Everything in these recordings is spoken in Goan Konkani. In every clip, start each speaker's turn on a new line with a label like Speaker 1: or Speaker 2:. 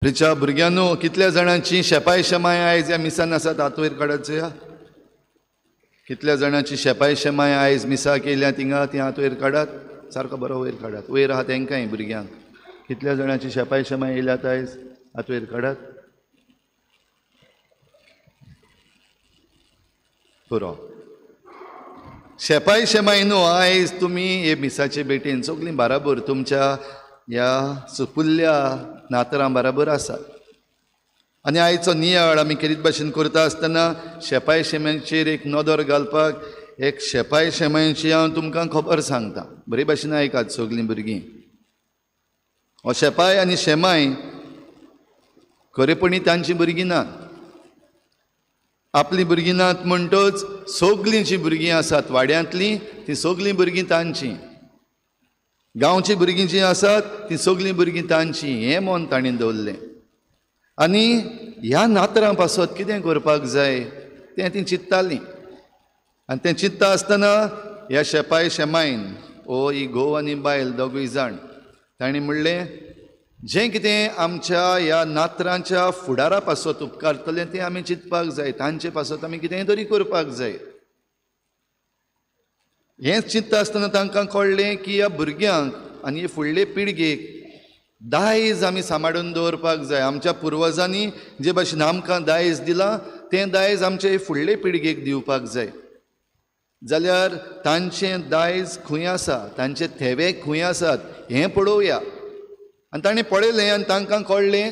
Speaker 1: रिचा भुरग्यांनो, कितल्या जाणांची शेपाय शेमाय आयज ह्या मिसान आसात? हात वयर काडात चोया. कितल्या जाणांची शेपाय शेमाय आयज मिसाक येयल्या थिंगा, ती हात वयर काडात. सारको बरो वयर काडात, वयर आहा तेंकांय भुरग्यांक. कितल्या जाणांची शेपाय शेमाय येयल्यात आयज? हात वयर काडात. पुरो. शेपाय शेमाय न्हू, आयज तुमी हे मिसाचे भेटेन सगळीं बाराबर तुमच्या ह्या सुपुल्ल्या नातरां बराबर आसात. आनी आयचो नियाळ आमी केरीत भाशेन करता आसतना शेपाय शेमायचेर एक नदर घालपाक एक शेपाय शेमायची हांव तुमकां खबर सांगता. बरे भाशेन आयकात सगळीं भुरगीं. हो शेपाय आनी शेमाय खरेपणी तांची भुरगीं नात, आपलीं भुरगीं नात म्हणटच सगळीं जीं भुरगीं आसात वाड्यांतलीं तीं सगळीं भुरगीं तांचीं, गांवचीं भुरगीं जीं आसात तीं सगळीं भुरगीं तांचीं, हें मन तांणी दवरलें. आनी ह्या नातरां पासत कितें करपाक जाय तें तीं चिंत्तालीं. आनी तें चिंत्ता आसतना ह्या शेपाय शेमायन ओ ही घोव आनी बायल दोगूय जाण तांणी म्हणलें, जें कितें आमच्या ह्या नातरांच्या फुडारा पासत उपकारतलें तें आमी चिंतपाक जाय, तांचे पासत आमी कितेंय तरी करपाक जाय. हें चिंतता आसतना तांकां कळ्ळें की ह्या भुरग्यांक आनी फुडले पिळगेक दायज आमी सांबाळून दवरपाक जाय. आमच्या पुर्वजांनी जे भाशेन आमकां दायज दिलां तें दायज आमचे फुडले पिळगेक दिवपाक जाय. जाल्यार तांचें दायज खंय आसा, तांचे थेवे खंय आसात हें पळोवया. आनी ताणें पळयलें आनी तांकां कळ्ळें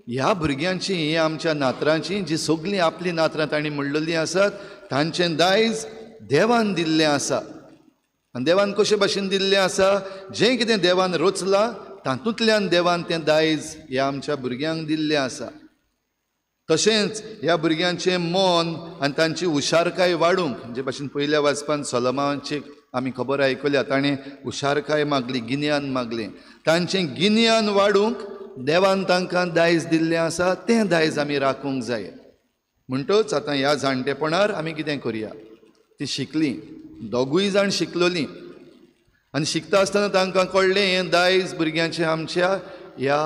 Speaker 1: ह्या भुरग्यांची, ही आमच्या नातरांची जी सगळीं आपलीं नातरां तांणी म्हणलेलीं आसात तांचें दायज देवान दिल्लें आसा. आनी देवान कशे भाशेन दिल्लें आसा, जें कितें देवान रचलां तातूंतल्यान देवान तें दायज ह्या आमच्या भुरग्यांक दिल्लें आसा. तशेंच ह्या भुरग्यांचें मन आनी तांची हुशारकाय वाडूंक, जे भाशेन पयल्या वाचपान सोलोमाची आमी खबर आयकल्या, ताणें हुशारकाय मागली, गिन्यान मागलें, तांचें गिन्यान वाडूंक देवान तांकां दायज दिल्लें आसा, तें दायज आमी राखूंक जाय. म्हणटच आतां ह्या जाणटेपणार आमी कितें करुया, ती शिकलीं, दोगूय जाण शिकलोलीं. आनी शिकता आसतना तांकां कळ्ळें हें दायज भुरग्यांचें आमच्या ह्या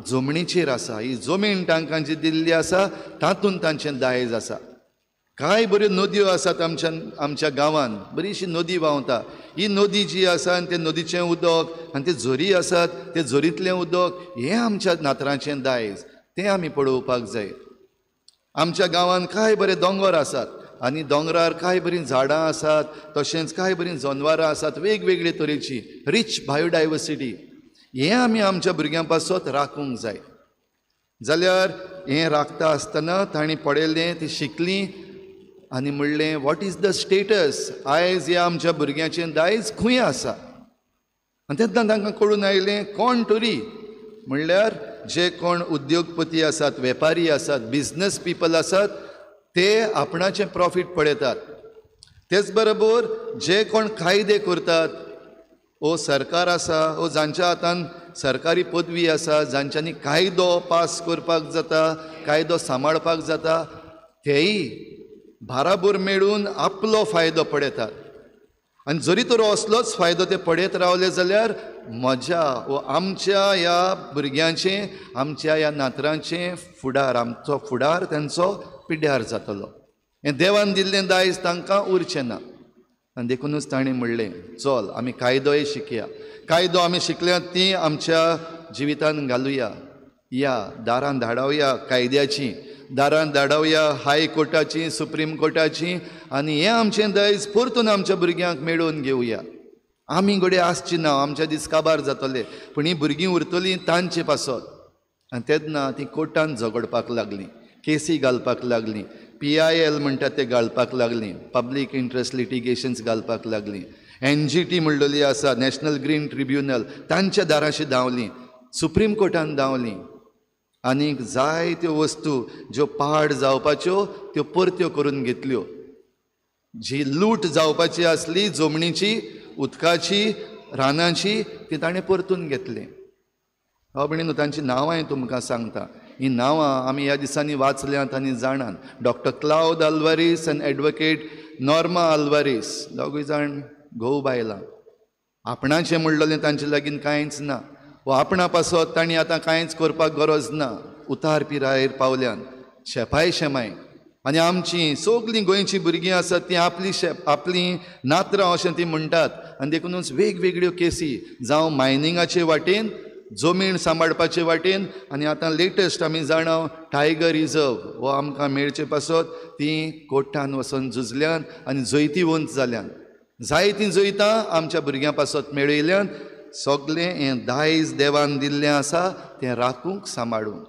Speaker 1: जमनीचेर आसा, ही जमीन तांकां जी दिल्ली आसा तातूंत तांचें दायज आसा. कांय बऱ्यो नदयो आसात आमच्या आमच्या गांवांत, बरीशी नदी व्हांवता, ही नदी जी आसा आनी ते नदीचें उदक आनी ते झरी आसात ते झरींतलें उदक हें आमच्या नातरांचें दायज, तें आमी पळोवपाक जाय. आमच्या गांवांत कांय बरे दोंगर आसात आनी दोंगरार कांय बरीं झाडां आसात, तशेंच कांय बरीं जनवरां आसात वेगवेगळे तरेची, रिच बायोडायवर्सिटी, हें आमी आमच्या भुरग्यां पासत राखूंक जाय. जाल्यार हें राखता आसतना तांणी पळयलें, ती शिकलीं आनी म्हणलें what is the status, आयज ह्या आमच्या भुरग्यांचें दायज खंय आसा. आनी तेन्ना तांकां कळून आयलें कोण तरी म्हणल्यार जे कोण उद्योगपती आसात, वेपारी आसात, बिजनस पिपल आसात, ते आपणाचें प्रॉफीट पळयतात. तेच बरोबर जे कोण कायदे करतात, ओ सरकार आसा, ओ जांच्या हातान सरकारी पदवी आसा, जांच्यांनी कायदो पास करपाक जाता, कायदो सांबाळपाक जाता, तेय बाराबर मेळून आपलो फायदो पळयतात. आनी जरी तर असलोच फायदो ते पळयत रावले जाल्यार म्हज्या वो आमच्या ह्या भुरग्यांचें, आमच्या ह्या नातरांचें फुडार, आमचो फुडार तांचो पिड्ड्यार जातलो. हें देवान दिल्लें दायज तांकां उरचें ना. आनी देखुनूच ताणें म्हणलें चल आमी कायदोय शिकया, कायदो आमी शिकल्यात ती आमच्या जिवितान घालुया, या दारान धाडावया कायद्याची, दारान धाडावया हाय कोर्टाची, सुप्रीम कोर्टाची, आनी हें आमचें दायज परतून आमच्या भुरग्यांक मेळोवन घेवया. आमी घडये आसची ना, आमच्या दीस काबार जातले, पूण हीं भुरगीं उरतलीं तांचे पासत. आनी तेन्ना तीं कोर्टान झगडपाक लागलीं, केसी घालपाक लागलीं, PIL म्हणटा ते घालपाक लागलीं, पब्लीक इंट्रस्ट लिटिगेशन्स घालपाक लागलीं, NGT म्हणलेली आसा, नॅशनल ग्रीन ट्रिब्युनल, तांच्या दाराशी धांवलीं, सुप्रीम कोर्टान धांवलीं, आनीक जायत्यो वस्तू ज्यो पाड जावपाच्यो त्यो परत्यो करून घेतल्यो. जी लूट जावपाची आसली जमनीची, उदकाची, रानाची, ती ताणें परतून घेतली. हांव भयणीनो तांची नांवांय तुमकां सांगता. ही नांवां आमी ह्या दिसांनी वाचल्यांत आनी जाणात. डॉक्टर क्लावद आल्वारीस आनी एडवोकेट नॉर्मा आल्वारीस, दोगूय जाण घोव बायलां. आपणाचें म्हणलेलें तांचे लागीं कांयच ना. वो आपणा पासत तांणी आतां कांयच करपाक गरज ना, उतार पिरायेर पावल्यान शेपाय शेमाय. आनी आमची सगळीं गोंयचीं भुरगीं आसात तीं आपली आपलीं नातरां अशें ती म्हणटात. आनी देखूनच वेगवेगळ्यो केसी जावं मायनिंगाचे वाटेन, जमीन सांबाळपाचे वाटेन, आनी आतां लेटस्ट आमी जाणा टायगर रिजर्व हो आमकां मेळचे पासत तीं कोर्टान वचून झुजल्यान आनी जैतिवंत जाल्यान. जायतीं जैतां आमच्या भुरग्यां पासत मेळयल्यान. सगळें हें दायज देवान दिल्लें आसा तें राखूंक सांबाळूंक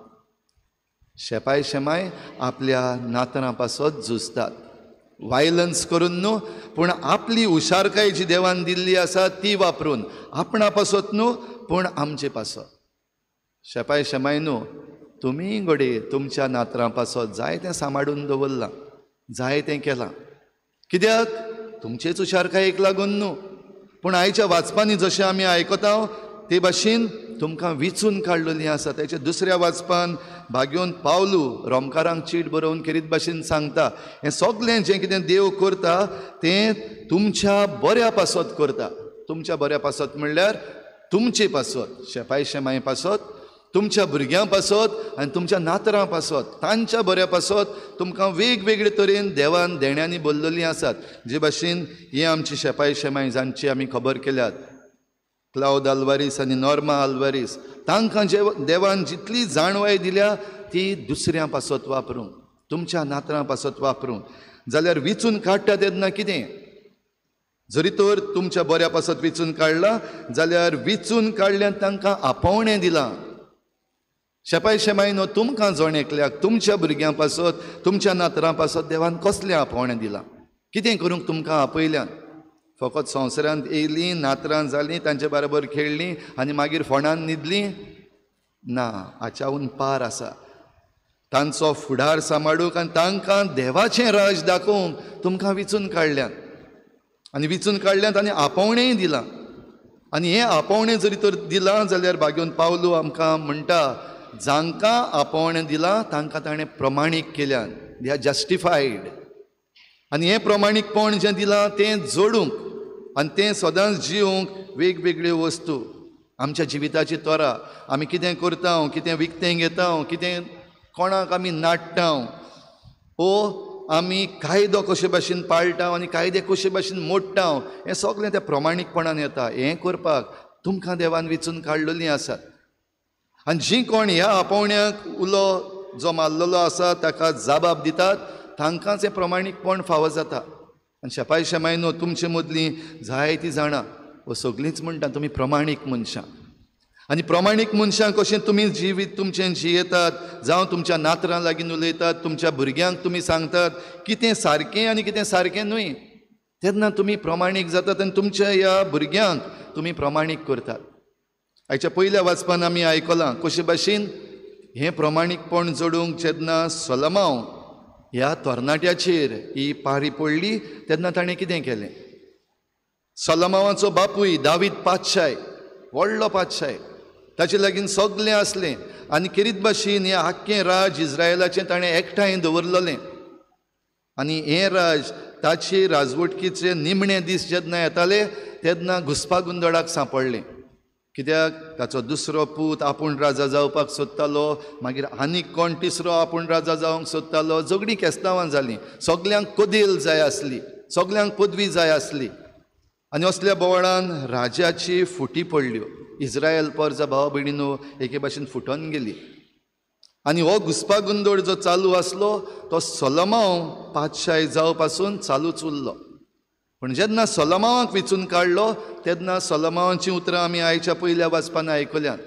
Speaker 1: शेपाय शेमाय आपल्या नातरां पासत झुजतात. वायलन्स करून न्हू, पूण आपली हुशारकाय जी देवान दिल्ली आसा ती वापरून, आपणा पासत न्हू पूण आमचे पासत. शेपाय शेमाय न्हू, तुमी घडये तुमच्या नातरां पासत जायतें सांबाळून दवरलां, जायतें केलां. कित्याक? तुमचेच हुशारकायेक लागून न्हू, पूण आयच्या वाचपांनी जशें आमी आयकता ते भाशेन तुमकां विचून काडलेलीं आसा. ताच्या दुसऱ्या वाचपान भाग्योन पावलू रोमकारांक चीट बरोवन खेरीत भाशेन सांगता, हें सगळें जें कितें देव करता तें तुमच्या बऱ्या पासत करता. तुमच्या बऱ्या पासत म्हणल्यार तुमचे पासत, शेपाय शेमाय पासत, तुमच्या भुरग्यां पासत आनी तुमच्या नातरां पासत, तांच्या बऱ्या पासत तुमकां वेगवेगळे तरेन देवान देण्यांनी बरलेलीं आसात. जे भाशेन हे आमची शेपाय शेमाय जांची आमी खबर केल्यात, क्लावद आल्वारीस आनी नॉर्मा आल्वारीस, तांकां जे देवान जितली जाणवाय दिल्या ती दुसऱ्यां पासत वापरूंक, तुमच्या नातरां पासत वापरूंक. जाल्यार विचून काडटा तेन्ना कितें, जरी तर तुमच्या बऱ्या पासत विचून काडला जाल्यार विचून काडल्यान तांकां आपोवणें दिलां. शेपाय शेमाय न्हू, तुमकां जण एकल्याक तुमच्या भुरग्यां पासत, तुमच्या नातरां पासत देवान कसलें आपोवणें दिलां, कितें करूंक तुमकां आपयल्यान? फकत संवसारांत येयलीं, नातरां जालीं, तांचे बरोबर खेळ्ळीं आनी मागीर फोंडान न्हिदलीं ना. हाच्याहून पार आसा. तांचो फुडार सांबाळूंक आनी तांकां देवाचें राज दाखोवंक तुमकां विचून काडल्यान, आनी विचून काडल्यान आनी आपोवणेंय दिलां. आनी हें आपोवणें जरी तर दिलां जाल्यार भाग्योन पावलू आमकां म्हणटा, जांकां आपोवणें दिलां तांकां ताणें प्रमाणीक केल्यान, they are justified. आनी हें प्रमाणीकपण जें दिलां तें जोडूंक आनी तें सदांच जिवंक वेगवेगळ्यो वस्तू आमच्या जिविताची तरा, आमी कितें करता, कितें विकतें घेता, कितें कोणाक आमी नाडटा, ओ आमी कायदो कशे भाशेन पाळटा आनी कायदे कशे भाशेन मोडटा, हें सगळें त्या प्रमाणीकपणान येता. हें करपाक तुमकां देवान विचून काडलेलीं आसात. आनी जीं कोण ह्या आपोवण्याक उलो जो मारलेलो आसा ताका जाबाब दितात तांकांच हें प्रमाणीकपण फावो जाता. आनी शेपाय शेमाय न्हू, तुमचे मदलीं जायतीं जाणां वो सगळींच म्हणटा तुमी प्रमाणीक मनशां. आनी प्रमाणीक मनशां कशें तुमी जिवीत तुमचें जियेतात, जावं तुमच्या नातरां लागीं उलयतात, तुमच्या भुरग्यांक तुमी सांगतात कितें सारकें आनी कितें सारकें न्हय, तेन्ना तुमी प्रमाणीक जातात आनी तुमच्या ह्या भुरग्यांक तुमी प्रमाणीक करतात. आयच्या पयल्या वाचपान आमी आयकलां कशे भाशेन हें प्रमाणीकपण जोडूंक जेन्ना सोलमांव ह्या तरणाट्याचेर ही पारी पडली तेन्ना ताणें कितें केलें. सोलमावाचो बापूय दावीद पातशाय, व्हडलो पातशाय, ताचे लागीं सगळें आसलें आनी खेरीत भाशेन हें आख्खें राज इस्रायलाचें ताणें एकठांय दवरलेलें. आनी हें राज ताचे राजवटकीचे निमणे दीस जेन्ना येताले तेन्ना घुस्पा गोंदळाक सांपडलें. कित्याक? ताचो दुसरो पूत आपूण राजा जावपाक सोदतालो, मागीर आनीक कोण तिसरो आपूण राजा जावंक सोदतालो. झगडीं केस्तांवां जालीं, सगल्यांक कदेल जाय आसली, सगल्यांक पदवी जाय आसली. आनी असल्या बोवाळान राजाची फुटी पडल्यो. इस्रायल परजा भाव भयणीनो एके भाशेन फुटोन गेली. आनी हो घुस्पा गोंदळ जो चालू आसलो तो सोलमांव पातशाय जावपासून चालूच उरलो. पूण जेन्ना सोलमांवाक विचून काडलो तेन्ना सोलमांवाचीं उतरां आमी आयच्या पयल्या वाचपान आयकल्यात.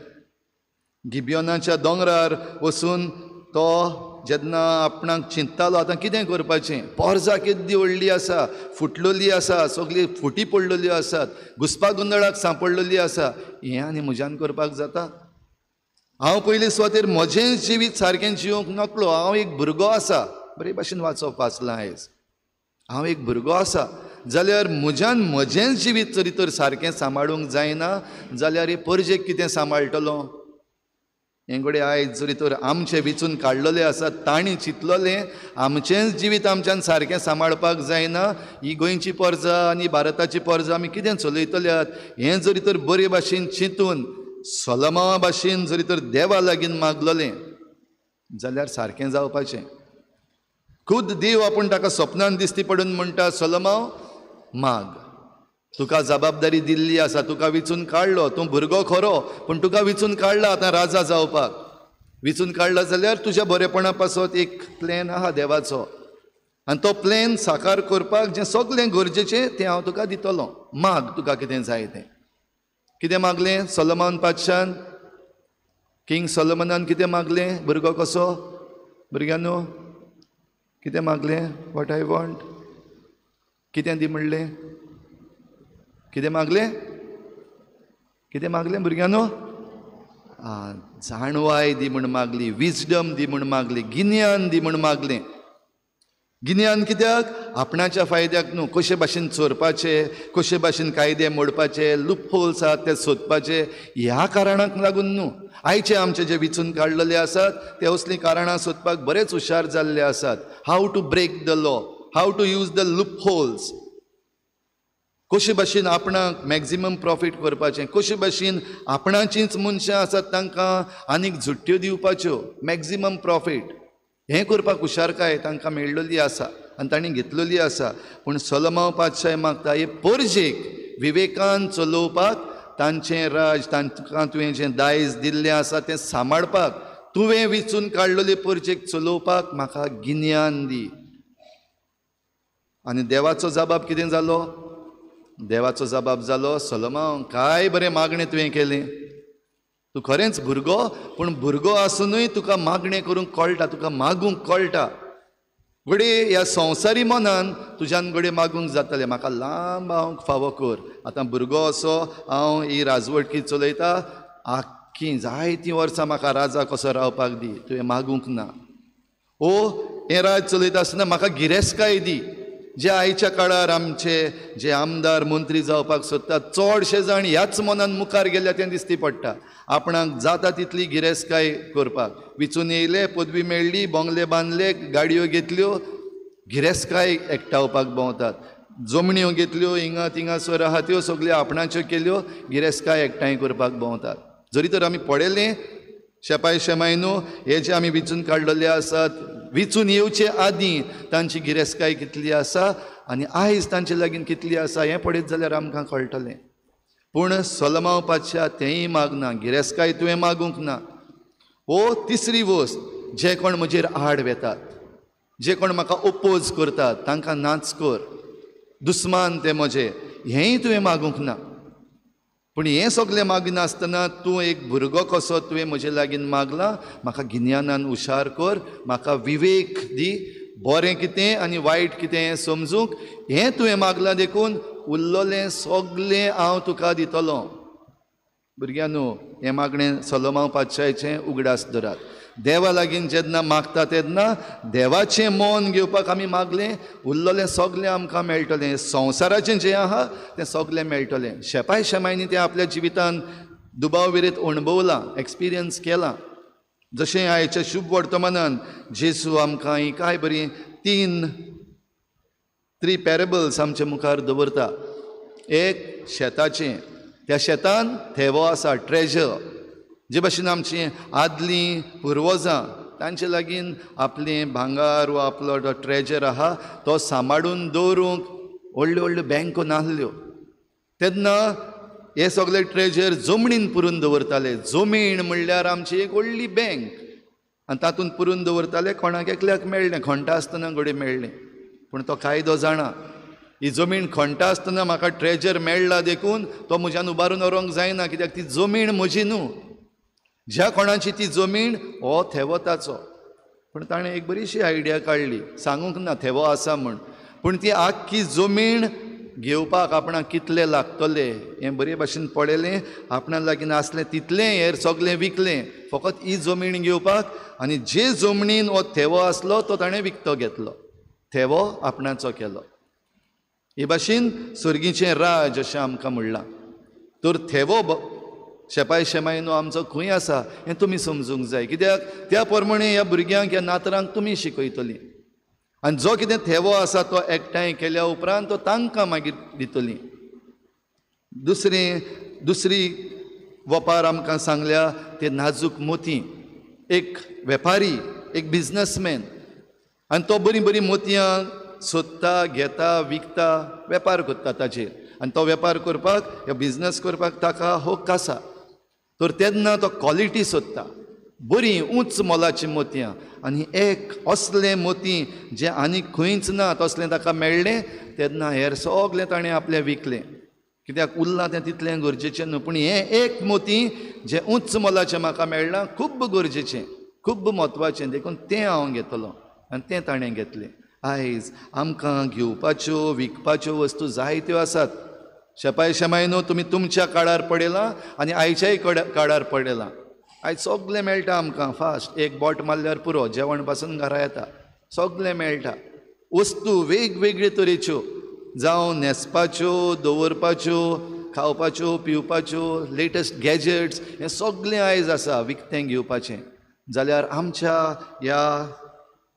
Speaker 1: गिबियोनाच्या दोंगरार वचून तो जेन्ना आपणाक चिंततालो आतां कितें करपाचें, पोरजा केद्दी व्हडली आसा, फुटलेली आसा, सगळी फुटी पडलेल्यो आसात, घुस्पा गोंदळाक सांपडलेली आसा, हें आनी म्हज्यान करपाक जाता? हांव पयले सुवातेर म्हजें जिवीत सारकें जिवंक नकळो, हांव एक भुरगो आसा. बरे भाशेन वाचप वाचलां आयज. हांव एक भुरगो आसा जाल्यार म्हज्यान म्हजेंच जिवीत जरी तर सारकें सांबाळूंक जायना जाल्यार हे परजेक कितें सांबाळटलो? हें घडये आयज जरी तर आमचें विचून काडलेलें आसा तांणी चिंतलेलें आमचेंच जिवीत आमच्यान सारकें सांबाळपाक जायना, ही गोंयची परजा आनी भारताची परजा आमी कितें चलयतल्यात हें जरी तर बरे भाशेन चिंतून सोलोमावा भाशेन जरी तर देवा लागीं मागलोलें जाल्यार सारकें जावपाचें. खुद देव आपूण ताका सपनान दिसती पडून म्हणटा, सोलोमाव माग, तुका जबाबदारी दिल्ली आसा, तुका विचून काडलो, तूं भुरगो खरो पूण तुका विचून काडला आतां राजा जावपाक. विचून काडला जाल्यार तुज्या बरेपणा पासत एक प्लॅन आहा देवाचो आनी तो प्लॅन साकार करपाक जें सगळें गरजेचें तें हांव तुका दितलो. माग तुका कितें जाय तें. कितें मागलें सोलोमन पातशान? किंग सोलोमनान कितें मागलें? भुरगो कसो भुरग्यांनो कितें मागलें? What I want. कितें दी म्हणलें? कितें मागलें? कितें मागलें भुरग्यांनो? जाणवाय दी म्हूण मागली, विजडम दी म्हूण मागली, गिन्यान दी म्हूण मागलें. गिन्यान कित्याक? आपणाच्या फायद्याक न्हू, कशे भाशेन चोरपाचे, कशे भाशेन कायदे मोडपाचे, लूपहोल्स आसात ते सोदपाचे, ह्या कारणाक लागून न्हू. आयचे आमचे जे विचून काडलेले आसात ते असलीं कारणां सोदपाक बरेच हुशार जाल्ले आसात. How to break the law, how to use the loopholes, कशे भाशेन आपणाक मॅक्झिमम प्रॉफीट करपाचें, कशे भाशेन आपणाचींच मनशां आसात तांकां आनीक झुट्ट्यो दिवपाच्यो, मॅक्झिमम प्रॉफीट, हें करपाक हुशारकाय तांकां मेळ्ळली आसा आनी तांणी घेतलेली आसा. पूण सोलोमाव पातशाय मागता हे परजेक विवेकान चलोवपाक, तांचें राज, तांकां तुवें जें दायज दिल्लें आसा तें सांबाळपाक, तुवें विचून काडलेले परजेक चलोवपाक म्हाका गिन्यान दी. आनी देवाचो जबाब कितें जालो? देवाचो जबाब जालो, सोलोमाव काय बरें मागणें तुवें केलें, तूं खरेंच भुरगो, पूण भुरगो आसुनूय तुका मागणें करूंक कळटा, तुका मागूंक कळटा. घडये ह्या संवसारी मनान तुज्यान घडये मागूंक जातलें, म्हाका लांब हांव फावो कर, आतां भुरगो असो हांव ही राजवटकी चलयता, आख्खी जायतीं वर्सां म्हाका राजा कसो रावपाक दी, तुवें मागूंक ना. ओ हें राज चलयता आसतना म्हाका गिरेस्तकाय दी. जे आयच्या काळार आमचे जे आमदार मंत्री जावपाक सोदतात चडशे जाण ह्याच मनान मुखार गेल्या तें दिसती पडटा. आपणाक जाता तितली गिरेस्तकाय करपाक विचून येयले, पदवी मेळ्ळी, बंगले बांदले, गाडयो घेतल्यो, गिरेस्तकाय एकठावपाक भोंवतात, जमण्यो घेतल्यो हिंगा थिंगासर आहा त्यो सगल्यो आपणाच्यो केल्यो, गिरेस्तकाय एकठांय करपाक भोंवतात. जरी तर आमी पळयलें शेपाय शेमाय न्हू, हे जे आमी विचून काडलेले आसात, विचून येवचे आदीं तांची गिरेस्तकाय कितली आसा आनी आयज तांचे लागीं कितली आसा हें पळयत जाल्यार आमकां कळटलें. पूण सोलोमाव पातशा तेंय मागना, गिरेस्तकाय तुवें मागूंक ना. ओ तिसरी वस्त, जे कोण म्हजेर आड वेतात, जे कोण म्हाका ओपोज करतात तांकां नाच कर, दुस्मान ते म्हजे, हेंय तुवें मागूंक ना. पूण हें सगळें मागिनासतना तूं एक भुरगो कसो तुवें म्हजे लागीं मागला, म्हाका गिन्यानान हुशार कर, म्हाका विवेक दी, बरें कितें आनी वायट कितें हें समजूंक, हें तुवें मागलां देखून उरलेलें सगळें हांव तुका दितलो. भुरग्यांनो, हें मागणें सोलोमाव पातशायचें उगडास धरात. देवा लागीं जेन्ना मागता तेन्ना देवाचें मन घेवपाक आमी मागलें, उरलेलें सगळें आमकां मेळटलें, संवसाराचें जें आहा तें सगळें मेळटलें. शेपाय शेमायनी तें आपल्या जिवितान दुबाव विरेत अणभवलां, एक्सपिरियन्स केलां. जशें आयच्या शुभ वर्तमानान जेजू आमकां ही काय बरी थ्री पॅरेबल्स आमच्या मुखार दवरता. एक शेताचें, त्या शेतान थेवो आसा, ट्रेजर, जे भाशेन आमची आदलीं पुर्वजां तांचे लागीं आपलें भांगार वा आपलो जो ट्रेजर आहा तो सांबाळून दवरूंक व्हडल्यो व्हडल्यो बँको नासल्यो, तेन्ना हे सगळे ट्रेजर जमणीन पुरून दवरताले. जमीन म्हणल्यार आमची एक व्हडली बँक आनी तातूंत पुरून दवरताले. कोणाक एकल्याक मेळ्ळें, खणटा आसतना घडये मेळ्ळें, पूण तो कायदो जाणा, ही जमीन खणटा आसतना म्हाका ट्रेजर मेळ्ळा देखून तो म्हज्यान उबारून व्हरूंक जायना, कित्याक ती जमीन म्हजी न्हू, ज्या कोणाची ती जमीन हो थेवो ताचो. पूण ताणें एक बरीशी आयडिया काडली, सांगूंक ना थेवो आसा म्हूण, पूण ती आख्खी जमीन घेवपाक आपणाक कितले लागतले हें बरे भाशेन पळयलें, आपणा लागीं आसलें तितलें हेर सगळें विकलें, फकत ही जमीन घेवपाक. आनी जे जमनीन हो थेवो आसलो तो ताणें विकतो घेतलो, थेवो आपणाचो केलो. हे भाशेन सर्गीचें राज अशें आमकां म्हणलां. तर थेवो शेपाय शेमायनो आमचो खंय आसा हें तुमी समजूंक जाय, कित्याक त्या प्रमाणे ह्या भुरग्यांक, ह्या नातरांक तुमी शिकयतलीं. आनी जो कितें थेवो आसा तो एकठांय केल्या उपरांत तो तांकां मागीर दितलीं. दुसरी वपार आमकां सांगल्या ते नाजूक मोती. एक वेपारी, एक बिजनसमॅन, आनी तो बरीं बरीं मोतयां सोदता, घेता, विकता, वेपार करता ताचेर. आनी तो वेपार करपाक या बिजनस करपाक ताका हक्क आसा. तर तेन्ना तो क्वॉलिटी सोदता, बरीं उंच मोलाचीं मोतयां. आनी एक असलें मोती जें आनी खंयच ना तसलें ताका मेळ्ळें तेन्ना हेर सगलें ताणें आपलें विकलें. कित्याक उरलां तें तितलें गरजेचें न्हू, पूण हें एक मोती जें उंच मोलाचें म्हाका मेळ्ळां खूब गरजेचें, खूब म्हत्वाचें, देखून तें हांव घेतलो. आनी तें ताणें घेतलें. आयज आमकां घेवपाच्यो विकपाच्यो वस्तू जायत्यो आसात. शेपाय शेमाय न्हू तुमी तुमच्या काळार पडयलां आनी आयच्याय काळार पडयलां. आयज सगलें मेळटा आमकां फास्ट, एक बोट मारल्यार पुरो, जेवण पासून घरा येता, सगलें मेळटा. वस्तू वेगवेगळे तरेच्यो, जावं न्हेसपाच्यो, दवरपाच्यो, खावपाच्यो, पिवपाच्यो, लेटस्ट गॅजेट्स, हें सगलें आयज आसा विकतें घेवपाचें. जाल्यार आमच्या ह्या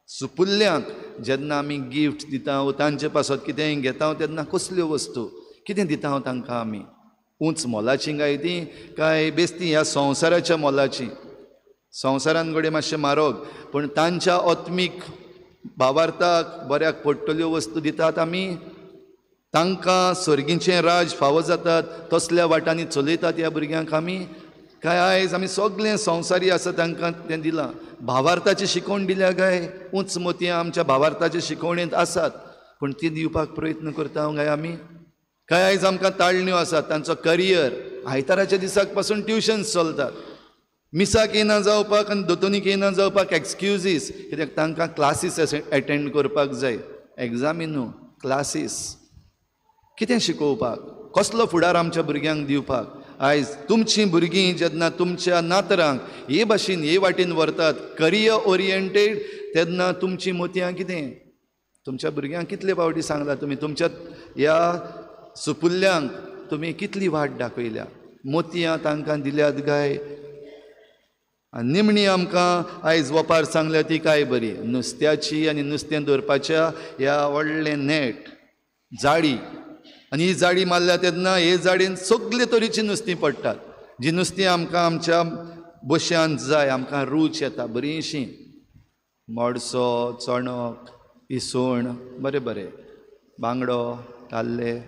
Speaker 1: सुपुल्ल्यांक जेन्ना आमी गिफ्ट दिता वो तांचे पासत कितेंय घेता तेन्ना कसल्यो वस्तू कितें दिता तांकां आमी? उंच मोलाचीं काय ती काय बेस्ती ह्या संवसाराच्या मोलाचीं? संवसारान घडये मातशें म्हारग, पूण तांच्या आत्मीक भावार्थाक बऱ्याक पडटल्यो वस्तू दितात आमी. तांकां सर्गीचें राज फावो जातात तसल्या वाटांनी चलयतात ह्या भुरग्यांक आमी. काय आयज आमी सगळें संवसारी आसा तांकां तें दिलां? भावार्थाची शिकवण दिल्या काय? उंच मोतयां आमच्या भावार्थाचे शिकवणेंत आसात, पूण ती दिवपाक प्रयत्न करता काय आमी? काय आयज आमकां ताळण्यो आसात, तांचो करियर आयताराच्या दिसाक पासून ट्युशन्स चलतात. मिसाक येना जावपाक आनी दोतोनीक येना जावपाक एक्सक्युजीस, कित्याक तांकां क्लासीस एटेंड करपाक जाय. एग्जामी न्हू, क्लासीस. कितें शिकोवपाक, कसलो फुडार आमच्या भुरग्यांक दिवपाक? आयज तुमचीं भुरगीं जेन्ना तुमच्या नातरांक हे भाशेन हे वाटेन व्हरतात, करियर ओरिएंटेड, तेन्ना तुमचीं मोतयां कितें? तुमच्या भुरग्यांक कितले फावटी सांगलां तुमी? तुमच्या ह्या सुपुल्ल्यांक तुमी कितली वाट दाखयल्या? मोतयां तांकां दिल्यात काय? आनी निमणी आमकां आयज वपार सांगल्या ती काय बरी, नुस्त्याची आनी नुस्तें दवरपाच्या ह्या व्हडलें नेट, जाळी. आनी ही जाळी मारल्या तेन्ना हे जाळयेन सगळे तरेचीं नुस्तीं पडटात. जी नुस्तीं आमकां आमच्या बश्यांत जाय, आमकां रूच येता बरीशीं, मोडसो, चणक, इसवण, बरें बरें, बांगडो, ताल्ले,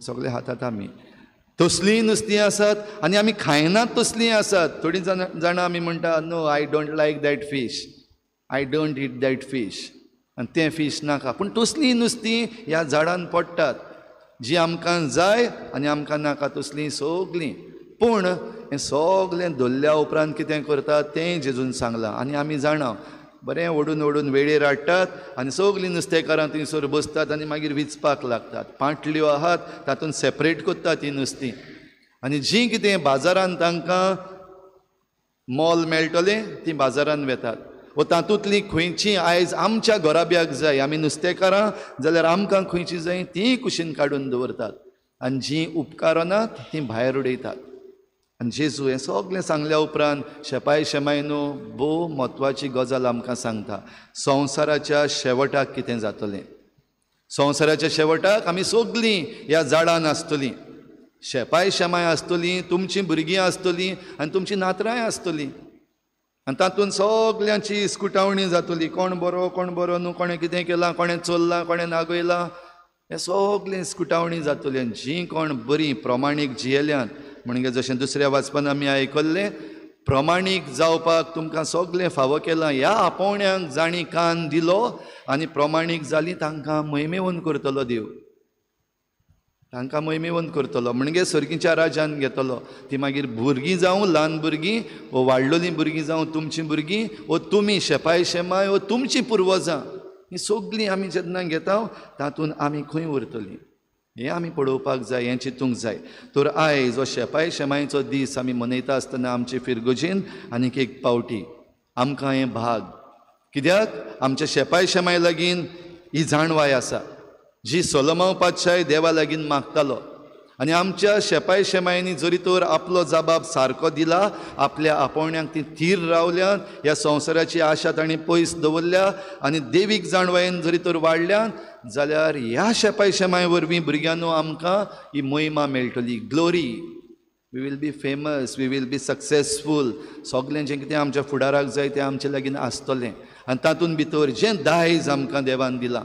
Speaker 1: सगळे खातात आमी. तसलीं नुस्तीं आसात आनी आमी खायनात तसलीं आसात. थोडीं जाणां आमी म्हणटा, no, I don't like that fish, I don't eat that fish, आनी तें फीश नाका. पूण तसलीं नुस्तीं ह्या झाडान पडटात, जी आमकां जाय आनी आमकां नाका तसलीं सगलीं. पूण हें सगलें धरल्या उपरांत कितें करतात तें जेजून सांगलां आनी आमी जाणा. बरें ओडून ओडून वेळेर हाडटात आनी सगलीं नुस्तेकारां थंयसर बसतात आनी मागीर विचपाक लागतात. पांटल्यो आहात तातूंत सेपरेट करतात तीं नुस्तीं, आनी जीं कितें बाजारान तांकां मोल मेळटलें तीं बाजारान वेतात. वो तातूंतलीं खंयचीं आयज आमच्या घराब्याक जाय, आमी नुस्तेकारां जाल्यार आमकां खंयचीं जाय तीं कुशीन काडून दवरतात आनी जीं उपकारनात तीं भायर उडयतात. आनी जेजू हें सगळें सांगल्या उपरांत शेपाय शेमाय न्हू भोव म्हत्वाची गजाल आमकां सांगता, संवसाराच्या शेवटाक कितें जातलें. संवसाराच्या शेवटाक आमी सगळीं ह्या झाडान आसतलीं, शेपाय शेमाय आसतलीं, तुमचीं भुरगीं आसतलीं आनी तुमचीं नातरांय आसतलीं. आनी तातूंत सगल्यांची इस्कुटावणी जातली, कोण बरो कोण बरो न्हू, कोणें कितें केलां, कोणें चोरलां, कोणें नागयलां, हें सगळें इस्कुटावणी जातली. आनी जीं कोण बरीं प्रमाणीक जियेल्यांत, म्हणजे जशें दुसऱ्या वाचपान आमी आयकल्लें, प्रमाणीक जावपाक तुमकां सगळें फावो केलां, ह्या आपोवण्यांक जांणी कान दिलो आनी प्रमाणीक जालीं तांकां महिमेवंत करतलो देव, तांकां महिमेवंत करतलो, म्हणजे सर्गीच्या राजान घेतलो. ती मागीर भुरगीं जावं, ल्हान भुरगीं वो वाडलोलीं भुरगीं जावं, तुमचीं भुरगीं वो तुमी शेपाय शेमाय वो तुमचीं पुर्वजां, हीं सगळीं आमी जेन्ना घेता तातूंत आमी खंय उरतलीं हें आमी पळोवपाक जाय, हें चिंतूंक जाय. तर आयज हो शेपाय शेमायचो दीस आमी मनयता आसतना आमचे फिरगोजेन आनीक एक पावटी आमकां हें भाग, कित्याक आमच्या शेपाय शेमाय लागीं ही जाणवाय आसा जी सोलोमांव पातशाय देवा लागीं मागतालो. आनी आमच्या शेपाय शेमायनी जरी तर आपलो जबाब सारको दिला, आपल्या आपोवण्यांक ती थीर रावल्यात, ह्या संवसाराची आशा तांणी पयस दवरल्या आनी देवीक जाणवायेन जरी तर वाडल्यात, जाल्यार ह्या शेपाय शेमाय वरवीं भुरग्यांनो आमकां ही महिमा मेळटली, glory, We will be famous, we will be successful. सगळें जें कितें आमच्या फुडाराक जाय तें आमचे लागीं आसतलें. आनी तातूंत भितर जें दायज आमकां देवान दिलां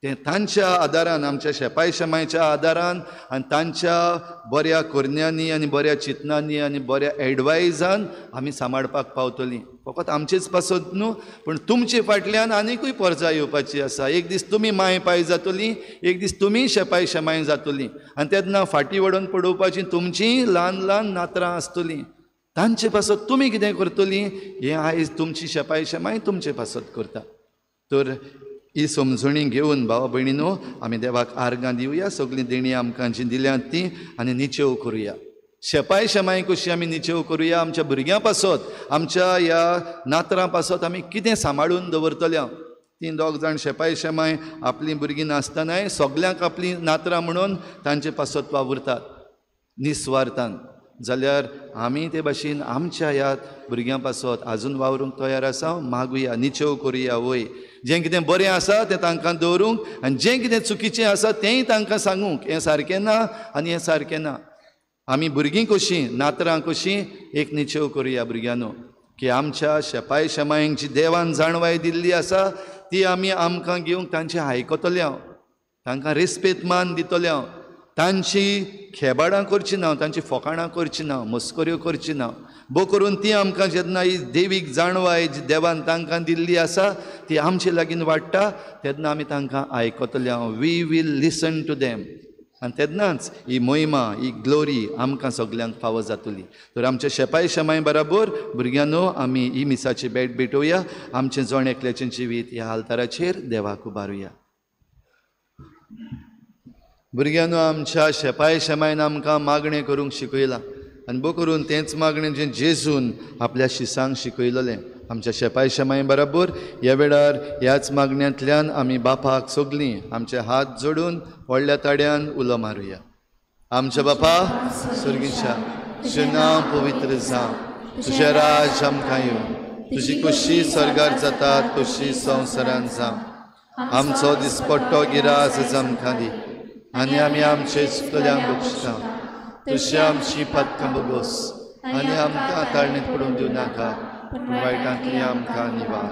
Speaker 1: तें तांच्या आदारान, आमच्या शेपाय शेमायच्या आदारान आनी तांच्या बऱ्या करण्यांनी आनी बऱ्या चिंतनांनी आनी बऱ्या एडवायजान आमी सांबाळपाक पावतलीं. फकत आमचेच पासत न्हू, पूण तुमचे फाटल्यान आनीकूय परजा येवपाची आसा. एक दीस तुमी माय पाय जातली, एक दीस तुमी शेपाय शेमाय जातली आनी तेन्ना फाटीं वडोवन पडोवपाची तुमचीं ल्हान ल्हान नातरां आसतलीं. तांचे पासत तुमी कितें करतलीं हें आयज तुमची शेपाय शेमाय तुमचे पासत करता. तर ही समजणी घेवन भावा भयणीनो आमी देवाक आर्गां दिवया, सगळीं देणीं आमकां जीं दिल्यांत तीं, आनी निचेव करुया. शेपाय शेमाय कशी आमी निचेव करुया आमच्या भुरग्यां पासत, आमच्या ह्या नातरां पासत आमी कितें सांबाळून दवरतले. तीं दोग जाण शेपाय शेमाय आपलीं भुरगीं नासतनाय सगल्यांक आपलीं नातरां म्हणून तांचे पासत वावुरतात निस्वार्थान. जाल्यार आमी ते भाशेन आमच्या ह्या भुरग्यां पासत आजून वावरूंक तयार आसा. मागुया, निचेव करुया. वय जें कितें बरें आसा तें तांकां दवरूंक आनी जें कितें चुकीचें आसा तेंय तांकां सांगूंक, हें सारकें ना आनी हें सारकें ना. आमी भुरगीं कशीं, नातरां कशीं एक निचेव करुया भुरग्यांनो, की आमच्या शेपाय शेमायंक जी देवान जाणवाय दिल्ली आसा ती आमी आमकां घेवंक तांचें आयकतले हांव, तांकां रेस्पेद मान दितले हांव, तांची खेबाडां करची ना, तांची फोकाणां करची ना, मस्कऱ्यो करची ना. बो करून ती आमकां जेन्ना ही देवीक जाणवाय जी देवान तांकां दिल्ली आसा ती आमचे लागीं वाडटा तेन्ना आमी तांकां आयकतले हांव. We will listen to them. आनी तेन्नाच ही महिमा, ही ग्लोरी आमकां सगल्यांक फावो जातली. तर आमच्या शेपाय शेमाय बराबर भुरग्यांनो आमी ही मिसाची भेट भेटोवया. आमचें जण एकल्याचें जिवीत ह्या आल्ताराचेर देवाक उबारुया. भुरग्यांनो आमच्या शेपाय शेमायन आमकां मागणें करूंक शिकयलां आनी बो करून तेंच मागणें जें जेजून आपल्या शिसांक शिकयलेलें आमच्या शेपाय शेमाय बराबर ह्या वेळार ह्याच मागण्यांतल्यान आमी बापाक सगलीं आमचे हात जोडून व्हडल्या ताड्यान उलो मारुया. आमच्या बापा सर्गीच्या, तुजें नांव पवित्र जावं, तुजें राज आमकां येवं, तुजी कशी स्वर्गार जाता तशी संवसारान जावं. आमचो दिसपट्टो गिरास आमकां दी आनी आमी आमचे चुकल्यांक बक्षता तशी आमची पातकां बोगोस आनी आमकां ताळणेंत पडूंक दिवं नाका, पूण वायटांतली आमकां निवार.